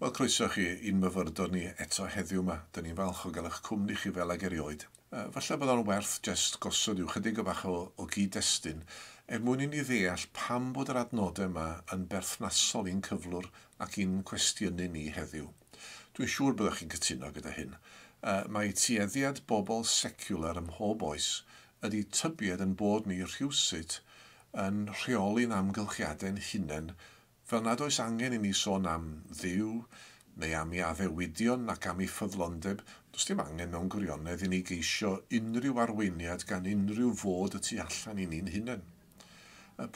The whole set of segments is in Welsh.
Wel, croeso chi i'n myfyrdod ni eto heddiw yma. Dyn ni'n falch o gael eich cwmni chi fel ag erioed. Falle bod o'n werth jest gosod i'w chydig o bach o gyd-destun er mwyn i ni ddeall pam bod yr adnodau yma yn berthnasol i'n cyflwr ac i'n cwestiynu ni heddiw. Dwi'n siŵr byddwch chi'n cytuno gyda hyn. Mae tueddiad bobl secular ym mhob oes ydy tybied yn bod ni rhywsut yn rheoli'n amgylchiadau'n hunain fel nad oes angen i ni sôn am Dduw neu am ei addewidion ac am ei ffyddlondeb. Does dim angen mewn gwirionedd i ni geisio unrhyw arweiniad gan unrhyw fod y tu allan i ni'n hunain.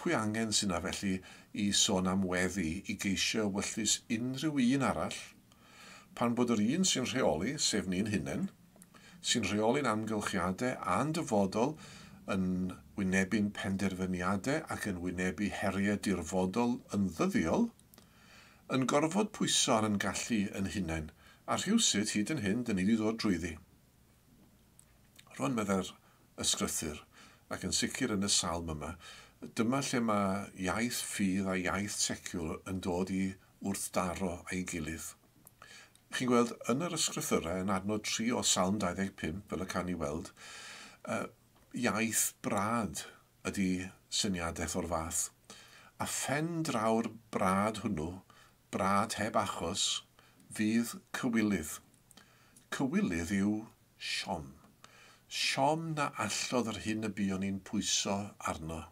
Pwy angen sy'n na felly i sôn am weddi i geisio ewyllys unrhyw un arall, pan bod yr un sy'n rheoli, sef ni'n hunain, sy'n rheoli'n amgylchiadau a'n dyfodol yn wynebu'n penderfyniadau ac yn wynebu heriau dirfodol yn ddyddiol, yn gorfod pwyso ar yn gallu yn hunain, a rhywsut hyd yn hyn dyn ni wedi dod drwyddi. Rwan meddai'r ysgrythur, ac yn sicr yn y salm yma, dyma lle mae iaith ffydd a iaith seciwlar yn dod i wrthdaro a'i gilydd. Chi'n gweld, yn yr ysgrythurau, yn adnod 3 o Salm 25, fel y can i weld, iaith brad ydy syniadaeth o'r fath. A phen draw'r brad hwnnw, brad heb achos, fydd cywilydd. Cywilydd yw siom. Siom na allodd yr hyn y buon ni'n pwyso arno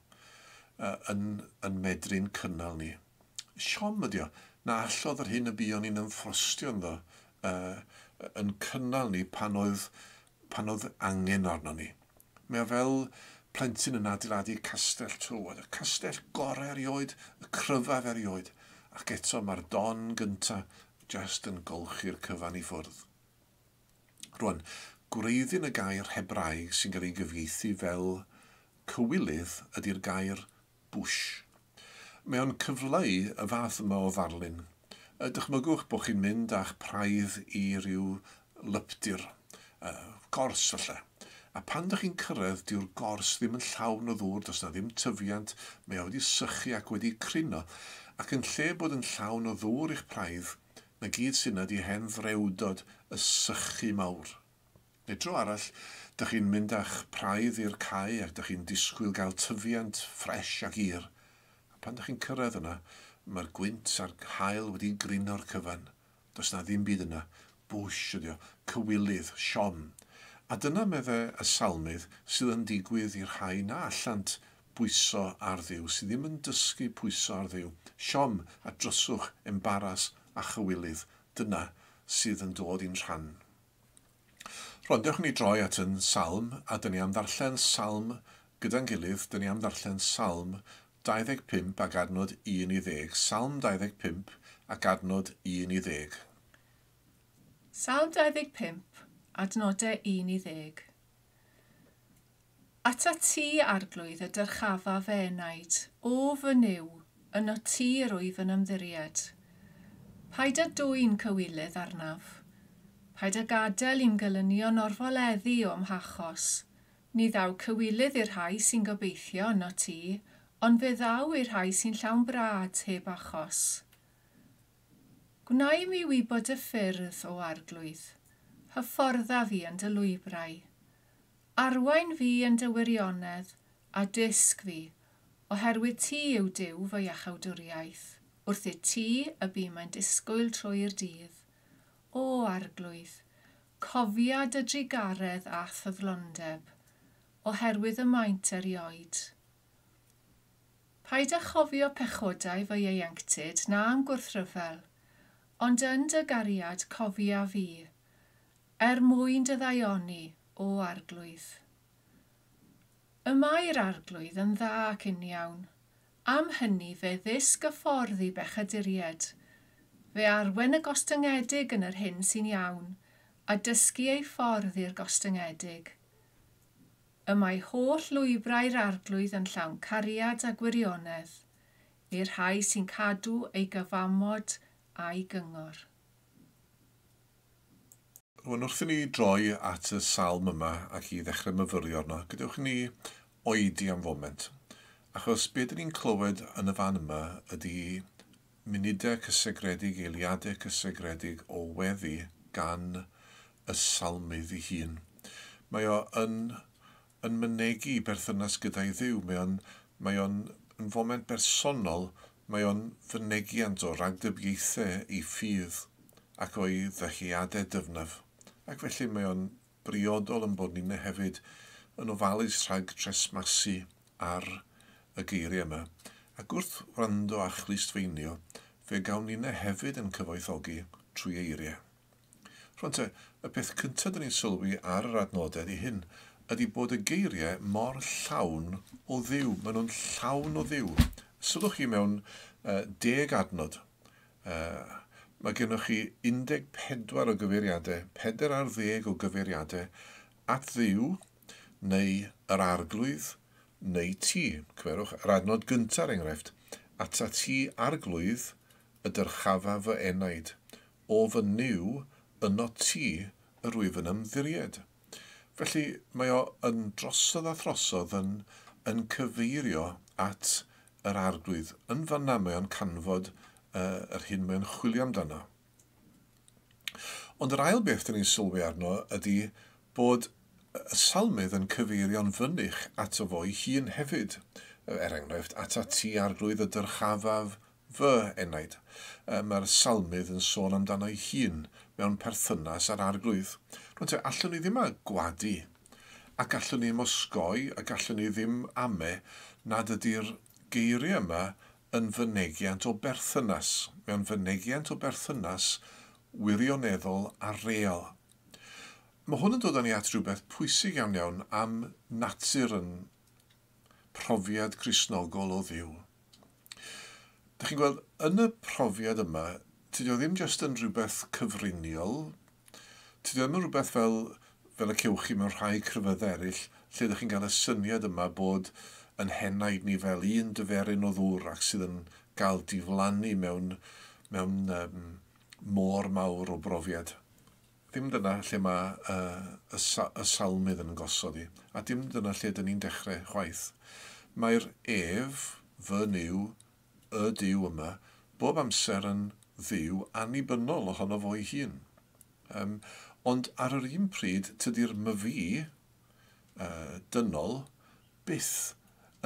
yn medru'n cynnal ni. Siom ydi o, na allodd yr hyn y buon ni'n ymffrostio ynddo yn cynnal ni pan oedd angen arno ni. Mae o fel plentyn yn adeiladu castell tywod, y castell gorau erioed, y cryfaf erioed, ac eto mae'r don gyntaf just yn golchi'r cyfan i ffwrdd. Rwan, gwreiddyn y gair Hebraeg sy'n cael ei gyfieithu fel cywilydd ydy'r gair bwsh. Mae o'n cyfleu y fath yma o ddarlun. Dychmygwch bod chi'n mynd â'ch praidd i ryw lypdir, gors falle. A pan dych chi'n cyrraedd, dyw'r gors ddim yn llawn o ddŵr, does na ddim tyfiant, mae o wedi sychu ac wedi crino. Ac yn lle bod yn llawn o ddŵr i'ch praidd, na gyd sy'n ydi hen ddrewdod y sychu mawr. Neu dro arall, dych chi'n mynd â'ch praidd i'r cae ac dych chi'n disgwyl gael tyfiant ffres ac ir. A pan dych chi'n cyrraedd yna, mae'r gwynt a'r haul wedi grino'r cyfan. Does na ddim byd yna. Bwsh ydi o, cywilydd, siom. A dyna meddai y salmydd sydd yn digwydd i'r rhai na allant bwyso ar Dduw, sydd ddim yn dysgu pwyso ar Dduw. Siom a dryswch, embaras a chywilydd. Dyna sydd yn dod i'n rhan. Rwan, dewch ni droi at yn salm, a dyn ni am ddarllen salm gyda'n gilydd, dyn ni am ddarllen salm 25 ac adnod 1 i 10. Salm 25 ac adnod 1 i 10. Salm 25, adnodau 1 i 10. Ata ti, Arglwydd, y dyrchafa fy enaid, o fy Nuw, yno ti yr wyf yn ymddiried. Paid â dwyn cywilydd arnaf. Paid â gadael i'm gelynion orfoleddu o'm hachos. Ni ddaw cywilydd i'r rhai sy'n gobeithio yno ti, ond fe ddaw i'r rhai sy'n llawn brad heb achos. Gwna i mi wybod y ffyrdd, o Arglwydd. Hyffordda fi yn dy lwybrau. Arwain fi yn dy wirionedd a dysg fi, oherwydd ti yw Duw fy iachawdwriaeth. Wrth i ti y bûm yn disgwyl trwy'r dydd. O Arglwydd, cofia dy drugaredd a ffyddlondeb, oherwydd y maent erioed. Paid â chofio pechodau fy ieuenctid na am gwrthryfel, ond yn dy gariad cofia fi, er mwyn dy ddaioni, o Arglwydd. Y mae'r Arglwydd yn dda ac uniawn. Am hynny fe ddysg y ffordd i bechaduriaid. Fe arwen y gostyngedig yn yr hyn sy'n iawn, a dysgu ei ffordd i'r gostyngedig. Y mae holl lwybrau'r Arglwydd yn llawn cariad a gwirionedd, i'r rhai sy'n cadw ei gyfamod a'i gyngor. Rwan, wrth i ni droi at y salm yma ac i ddechrau myfyrio arno, gadewch i ni oedi am foment. Achos be dyn ni'n clywed yn y fan yma ydy munudau cysegredig, eiliadau cysegredig o weddi gan y salmydd ei hun. Mae o yn mynegi berthynas gyda'i Dduw. Mae o'n yn foment bersonol, mae o'n fynegiant o ragdybiaethau ei ffydd ac o'i ddyheadau dyfnaf. Ac felly mae o'n briodol yn bod ni'n hefyd yn ofalus rhag tresmasu ar y geiriau yma. Ac wrth wrando a chlustfeinio, fe gawn ni'n hefyd yn cyfoethogi trwy eiriau. Rwan te, y peth cyntaf dyn ni'n sylwi ar yr adnodau ydy hyn, ydy bod y geiriau mor llawn o Dduw. Maen nhw'n llawn o Dduw. Sylwch chi mewn 10 adnod. Mae gennych chi 14 o gyfeiriadau, 40 o gyfeiriadau at Dduw neu yr Arglwydd neu ti. Cymerwch yr adnod gyntaf, er enghraifft. "Ata ti, Arglwydd, y dyrchafa fy enaid. O fy Nuw, yno ti yr wyf yn ymddiried." Felly mae o yn drosodd a throsodd yn cyfeirio at yr Arglwydd. Yn fanna mae o'n canfod yr hyn mae'n chwilio amdano. Ond yr ail beth dyn ni'n sylwi arno ydy bod y salmydd yn cyfeirio'n fynych ato fo'i hun hefyd. Er enghraifft, "Ata ti, Arglwydd, y dyrchafaf fy enaid." Mae'r salmydd yn sôn amdano ei hun mewn perthynas â'r Arglwydd. Rwan te, allwn ni ddim a gwadu, ac allwn ni ddim osgoi, ac allwn ni ddim ame nad ydy'r geiriau yma yn fynegiant o berthynas. Mewn fynegiant o berthynas wirioneddol a real. Mae hwn yn dod â ni at rhywbeth pwysig iawn iawn am natur yn profiad Cristnogol o Dduw. Dych chi'n gweld, yn y profiad yma, tydi o ddim jyst yn rhywbeth cyfriniol, tydi o ddim yn rhywbeth fel y cewch chi mewn rhai crefyddau eraill, lle ydych chi'n cael y syniad yma bod yn henaid ni fel un dyferyn o ddŵr ac sydd yn gael diflannu mewn môr mawr o brofiad. Ddim dyna lle mae y salmydd yn gosod i, a dim dyna lle dyn ni'n dechrau chwaith. Mae'r ef, fy Nuw, y Duw yma, bob amser yn Dduw annibynnol ohono fo'i hun. Ond ar yr un pryd, tydi'r myfi dynol byth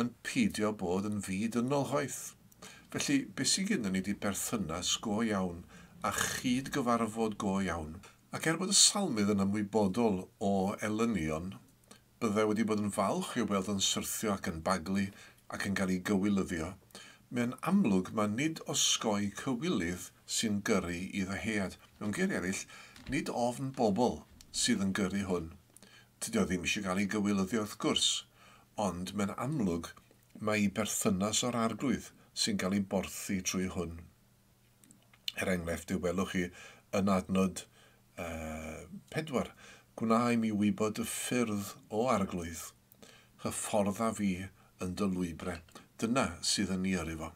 yn peidio bod yn fi dynol chwaith. Felly, beth sydd gennym ni 'di berthynas go iawn a chyd gyfarfod go iawn. Ac er bod y salmydd yn ymwybodol o elynion, byddai wedi bod yn falch i'w weld yn syrthio ac yn baglu ac yn cael ei gywilyddio, mae'n amlwg mae nid osgoi cywilydd sy'n gyrru i ddyhead. Mewn geiriau eraill, nid ofn bobl sydd yn gyrru hwn. Tydi o ddim eisiau cael ei gywilyddio wrth gwrs, ond mae'n amlwg mae ei berthynas o'r Arglwydd sy'n cael ei borthi trwy hwn. Er enghraifft, welwch chi yn adnod 4, "Gwna i mi wybod y ffyrdd, O Arglwydd, hyffordda fi yn dy lwybrau." Dyna sydd yn ei yrru fo.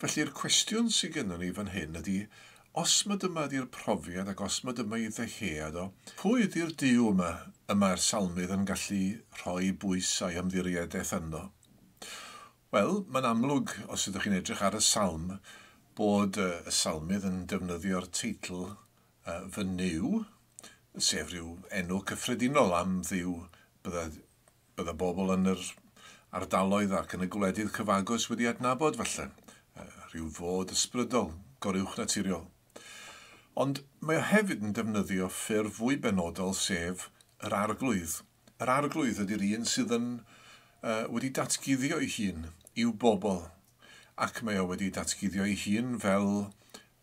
Felly'r cwestiwn sydd gennym ni fan hyn ydy, os mae dyma ydy'r profiad ac os mae dyma ei ddyhead o, pwy ydy'r Duw yma y mae'r salmydd yn gallu rhoi bwys a'i ymddiriedaeth ynddo? Wel, mae'n amlwg, os ydych chi'n edrych ar y salm, bod y salmydd yn defnyddio'r teitl "fy Nuw", sef rhyw enw cyffredinol am Dduw bydda bobl yn yr ardaloedd ac yn y gwledydd cyfagos wedi adnabod falle. Rhyw fod ysbrydol, goruwch naturiol. Ond mae o hefyd yn defnyddio ffurf fwy benodol, sef yr Arglwydd. Yr Arglwydd ydy'r un sydd yn wedi datguddio ei hun i'w bobl. Ac mae o wedi datguddio ei hun fel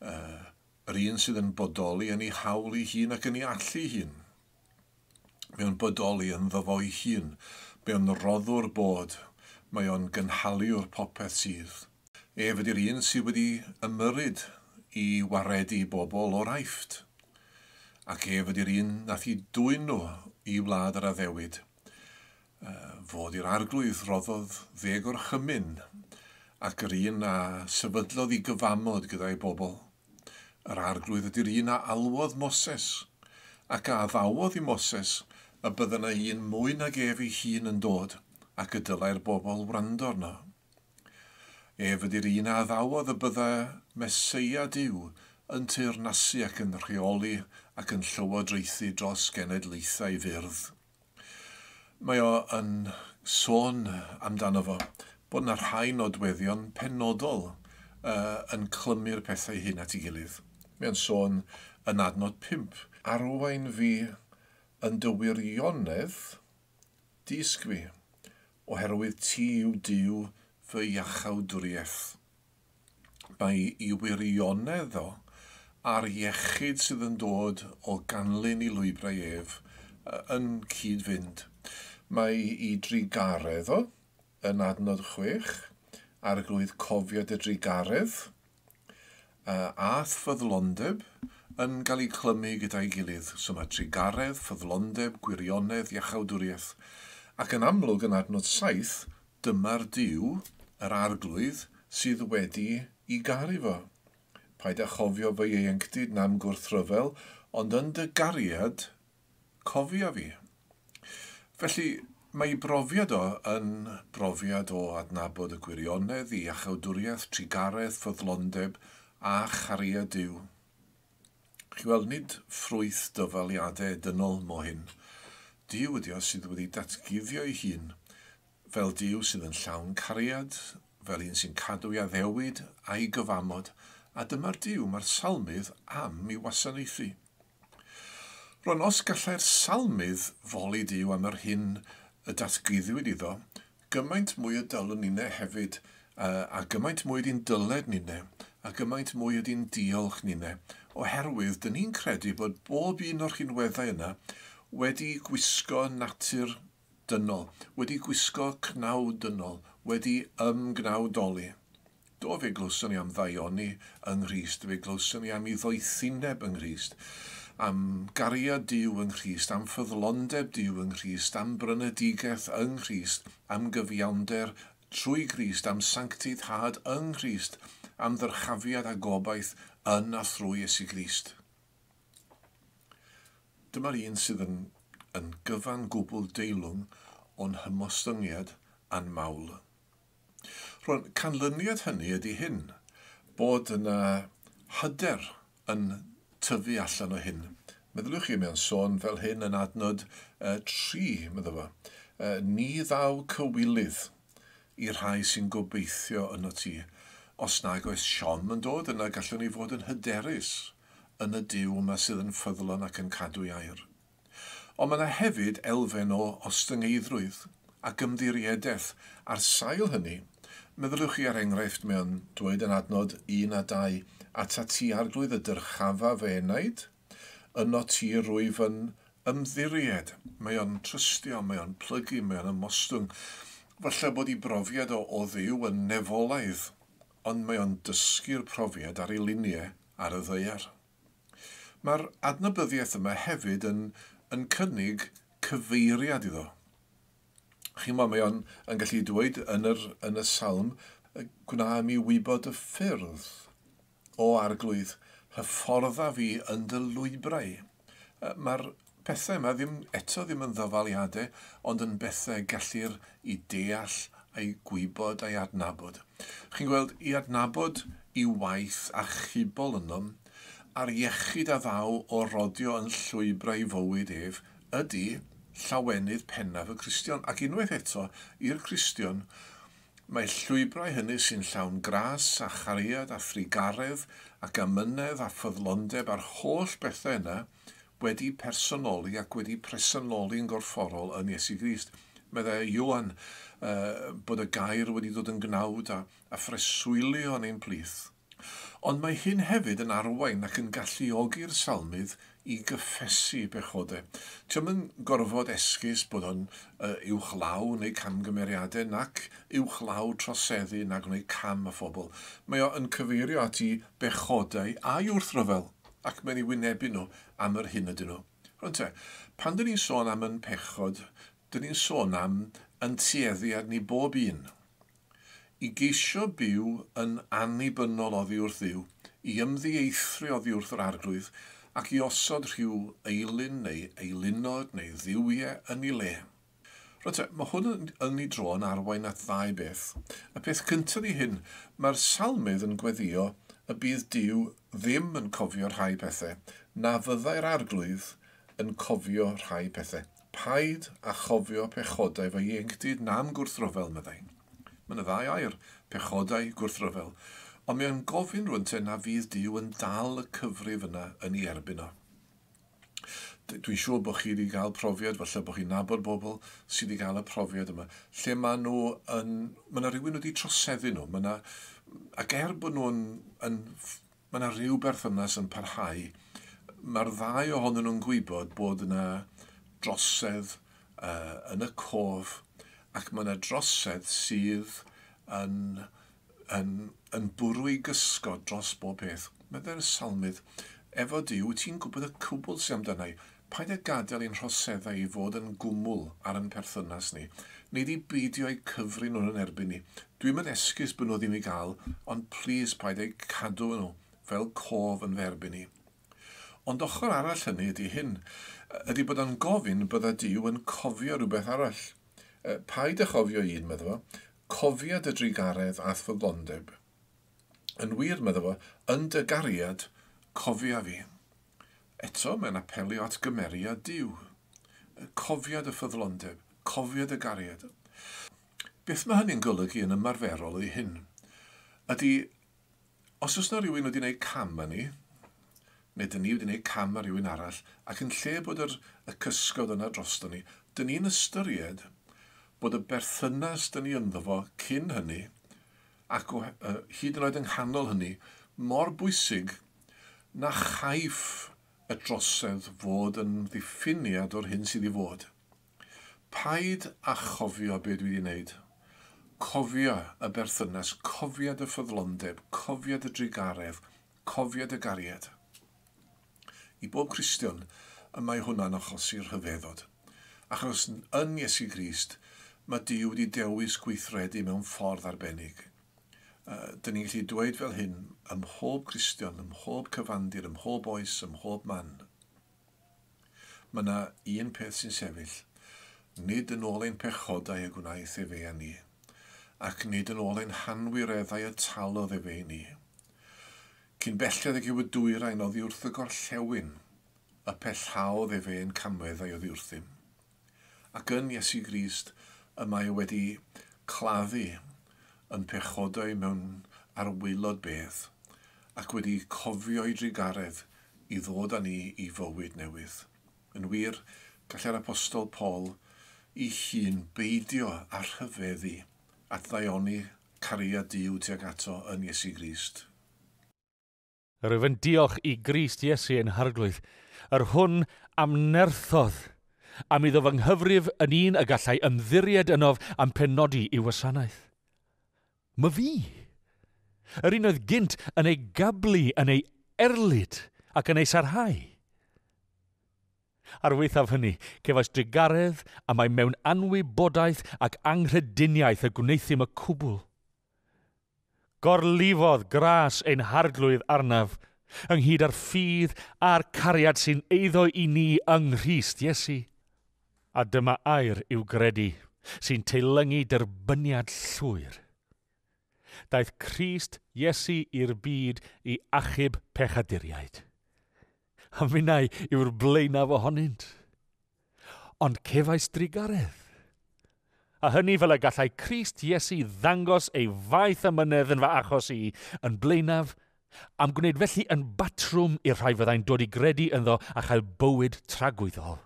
yr un sydd yn bodoli yn ei hawl ei hun ac yn ei allu ei hun. Mae o'n bodoli ynddo fo'i hun. Mae o'n roddwr bod. Mae o'n gynhaliwr popeth sydd. Ef ydy'r un sydd wedi ymyryd i waredu bobl o'r Aifft. Ac ef ydy'r un nath i dwyn nhw i wlad yr addewid. Fod i'r Arglwydd roddodd ddeg orchymyn ac yr un a sefydlodd ei gyfamod gyda'i bobl. Yr Arglwydd ydy'r un a alwodd Moses ac a addawodd i Moses y bydda yna un mwy nag ef ei hun yn dod ac y dylai'r bobl wrando arno. Ef ydy'r un a addawodd y bydda Meseia Duw yn teyrnasu ac yn rheoli ac yn llywodraethu dros genedlaethau fyrdd. Mae o yn sôn amdano fo bod yna rhai nodweddion penodol yn clymu'r pethau hyn at ei gilydd. Mae o'n sôn yn adnod 5. Arwain fi yn dy wirionedd, dysg fi, oherwydd ti yw Duw fy iachawdwriaeth. Mae i wirionedd o a'r iechyd sydd yn dod o ganlyn i lwybrau ef yn cyd-fynd. Mae i drugaredd o yn adnod 6, arglwydd cofio dy drugaredd, a ffyddlondeb yn cael ei clymu gyda'i gilydd. So mae trugaredd, ffyddlondeb, gwirionedd, iachawdwriaeth. Ac yn amlwg yn adnod 7, dyma'r Duw, yr arglwydd, sydd wedi i garu fo. Paid â chofio fy ieuenctid na'm gwrthryfel, ond yn dy gariad, cofia fi. Felly, mae ei brofiad o yn brofiad o adnabod y gwirionedd, i iachawdwriaeth, trugaredd, ffyddlondeb a chariad Duw. Chi weld, nid ffrwyth dyfaliadau dynol mo hyn. Duw ydi o sydd wedi datguddio ei hun fel Duw sydd yn llawn cariad, fel un sy'n cadw ei addewid a'i gyfamod, a dyma'r Duw mae'r salmydd am i wasanaethu. Rwan, os gallai'r salmydd foli Duw am yr hyn y datguddiwyd iddo, gymaint mwy y dylwn ninne hefyd, a gymaint mwy ydy'n dyled ninne, a gymaint mwy ydy'n diolch ninne, oherwydd dyn ni'n credu bod bob un o'r rhinweddau yna wedi gwisgo natur dynol, wedi gwisgo cnawd dynol, wedi ymgnawdoli. Do, fe glywson ni am ddaioni yng Nghrist, fe glywson ni am ei ddoethineb yng Nghrist, am gariad Duw yng Nghrist, am ffyddlondeb Duw yng Nghrist, am brynedigaeth yng Nghrist, am gyfiawnder trwy Grist, am sancteiddhad yng Nghrist, am ddyrchafiad a gobaith yn a thrwy Iesu Grist. Dyma'r un sydd yn gyfan gwbl deilwng o'n hymostyngiad a'n mawl. Rwan, canlyniad hynny ydy hyn, bod yna hyder yn tyfu allan o hyn. Meddyliwch chi mewn sôn fel hyn yn adnod 3, meddwl fo. Ni ddaw cywilydd i'r rhai sy'n gobeithio yno ti. Os nag oes siom yn dod, yna gallwn ni fod yn hyderus yn y Duw yma sydd yn ffyddlon ac yn cadw ei air. Ond mae yna hefyd elfen o ostyngeiddrwydd ac ymddiriedaeth. Ar sail hynny, meddyliwch chi ar enghraifft mewn dweud yn adnod 1 a 2, atat ti arglwydd y dyrchafa fy enaid, yno ti rwyf yn ymddiried. Mae o'n trystio, mae o'n plygu, mae o'n ymostwng. Falle bod ei brofiad o Dduw yn nefolaidd, ond mae o'n dysgu'r profiad ar ei luniau ar y ddaear. Mae'r adnabyddiaeth yma hefyd yn cynnig cyfeiriad iddo. Chi'n gwybod, mae o'n yn gallu dweud yn y salm, gwna mi wybod y ffyrdd o arglwydd, hyffordda fi yn dy lwybrau. Mae'r pethau yma ddim yn ddyfaliadau, ond yn bethau gellir i deall a'i gwybod a'i adnabod. Chi'n gweld, i adnabod i waith achubol ynom, a'r iechyd a ddaw o rodio yn llwybrau fywyd ef, ydy llawenydd pennaf y Cristion. Ac unwaith eto, i'r Cristion, mae llwybrau hynny sy'n llawn gras a chariad a thrugaredd ac amynedd a ffyddlondeb a'r holl bethau yna wedi personoli ac wedi presenoli'n gorfforol yn Iesu Grist. Meddai Ioan bod y gair wedi dod yn gnawd a phreswylio yn ein plith. Ond mae hyn hefyd yn arwain ac yn galluogi'r salmydd i gyffesu bechodau. Ti'm yn gorfod esgus bod o'n uwchlaw neu camgymeriadau nac uwchlaw troseddu na gwneud cam â phobl. Mae o yn cyfeirio at ei bechodau a'i wrthryfel ac mae'n ei wynebu nhw am yr hyn ydyn nhw. Rwan te, pan dyn ni'n sôn am yn pechod, dyn ni'n sôn am yn tueddiad ni bob un. I geisio byw yn annibynnol oddi wrth Dduw, i ymddieithrio oddi wrth yr arglwydd, ac i osod rhyw eilun neu eilunod neu dduwiau yn ei le. Rwan te, mae hwn yn ei dro yn arwain at ddau beth. Y peth cyntaf i hyn, mae'r salmydd yn gweddio y bydd Duw ddim yn cofio rhai pethau, na fyddai'r arglwydd yn cofio rhai pethau. Paid a chofio pechodau fy ieuenctid nam gwrthryfel, meddai. Mae yna ddau air, pechodau, gwrthryfel. Ond mae o'n gofyn rwan te na fydd Duw yn dal y cyfrif yna yn ei erbyn o. Dwi'n siŵr bod chi wedi cael profiad, falle bod chi'n nabod bobl sydd wedi cael y profiad yma, lle maen nhw yn... Mae yna rhywun wedi troseddu nhw. Mae yna, ac er bod nhw'n... Mae yna rhyw berthynas yn parhau, mae'r ddau ohonyn nhw'n gwybod bod yna drosedd yn y cof, ac mae yna drosedd sydd yn bwrw i gysgod dros bob peth. Meddai'r salmydd, efo Duw, ti'n gwybod y cwbl sy'n amdana i. Paid â gadael i'n rhoseddau i fod yn gwmwl ar ein perthynas ni. Nid i beidio eu cyfri nhw'n yn erbyn ni. Dwi'm yn esgus bod nhw ddim i gael, ond plis paid â'u cadw nhw fel cof yn fy erbyn ni. Ond ochr arall hynny ydy hyn, ydy bod o'n gofyn bydda Duw yn cofio rhywbeth arall. Paid â chofio un, medda fo, cofia dy drugaredd a'th ffyddlondeb. Yn wir, medda fo, yn dy gariad, cofia fi. Eto, mae'n apelio at gymeriad Duw. Cofia dy ffyddlondeb, cofia dy gariad. Beth mae hynny'n golygu yn ymarferol ydy hyn? Ydy, os oes yna rhywun wedi gwneud cam â ni, neu dyn ni wedi gwneud cam â rhywun arall, ac yn lle bod y cysgod yna drosto ni, dyn ni'n ystyried bod y berthynas dyn ni ynddo fo cyn hynny, ac hyd yn oed yng nghanol hynny, mor bwysig na chaiff y drosedd fod yn ddiffiniad o'r hyn sydd i fod. Paid â chofio be dwi wedi wneud. Cofia y berthynas, cofia dy ffyddlondeb, cofia dy drugaredd, cofia dy gariad. I bob Cristion, y mae hwnna'n achosi rhyfeddod. Achos yn Iesu Grist, mae Duw wedi dewis gweithredu mewn ffordd arbennig. Dyn ni'n gallu dweud fel hyn ym mhob Cristion, ym mhob cyfandir, ym mhob oes, ym mhob man. Mae yna un peth sy'n sefyll. Nid yn ôl ein pechodau y gwnaeth efe â ni, ac nid yn ôl ein hanwireddau y talodd efe i ni. Cyn belled ag yw y dwyrain oddi wrth y gorllewin, y pellhaodd efe ein camweddau oddi wrthym. Ac yn Iesu Grist y mae wedi claddu yn pechodau mewn arwaelod bedd, ac wedi cofio ei drugaredd i ddod â ni i fywyd newydd. Yn wir, gallai'r apostol Paul i hun beidio â rhyfeddu at ddaioni cariad Duw tuag ato yn Iesu Grist. Rwyf yn diolch i Grist Iesu ein harglwydd, yr hwn am nerthodd, am iddo fy nghyfrif yn un y gallai ymddiried ynof am penodi i'w wasanaeth. My fi, yr un oedd gynt yn ei gablu, yn ei erlid ac yn ei sarhau. Ar waethaf hynny, cefais drugaredd a mae mewn anwybodaeth ac anghrediniaeth y gwneuthum y cwbl. Gorlifodd gras ein harglwydd arnaf, ynghyd â'r ffydd a'r cariad sy'n eiddo i ni yng Nghrist Iesu. A dyma air i'w gredu, sy'n teilyngu derbyniad llwyr. Daeth Crist Iesu i'r byd i achub pechaduriaid. A minnau yw'r blaenaf ohonynt. Ond cefais drugaredd. A hynny fel y gallai Crist Iesu ddangos ei faith amynedd yn fy achos i yn blaenaf, am gwneud felly yn batrwm i'r rhai fyddai'n dod i gredu ynddo a chael bywyd tragwyddol.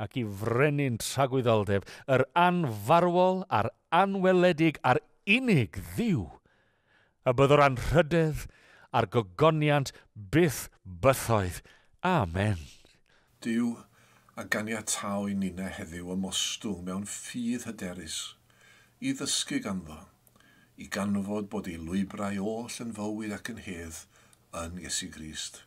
Ac i frenin tragwyddoldeb, yr anfarwol a'r anweledig a'r unig Dduw, y byddwr anrhydedd a'r gogoniant byth bythoedd. Amen. Duw, a ganiatáu i ninna heddiw ymostwng mewn ffydd hyderus, i ddysgu ganddo, i ganfod bod ei lwybrau oll yn fywyd ac yn hedd yn Iesu Grist.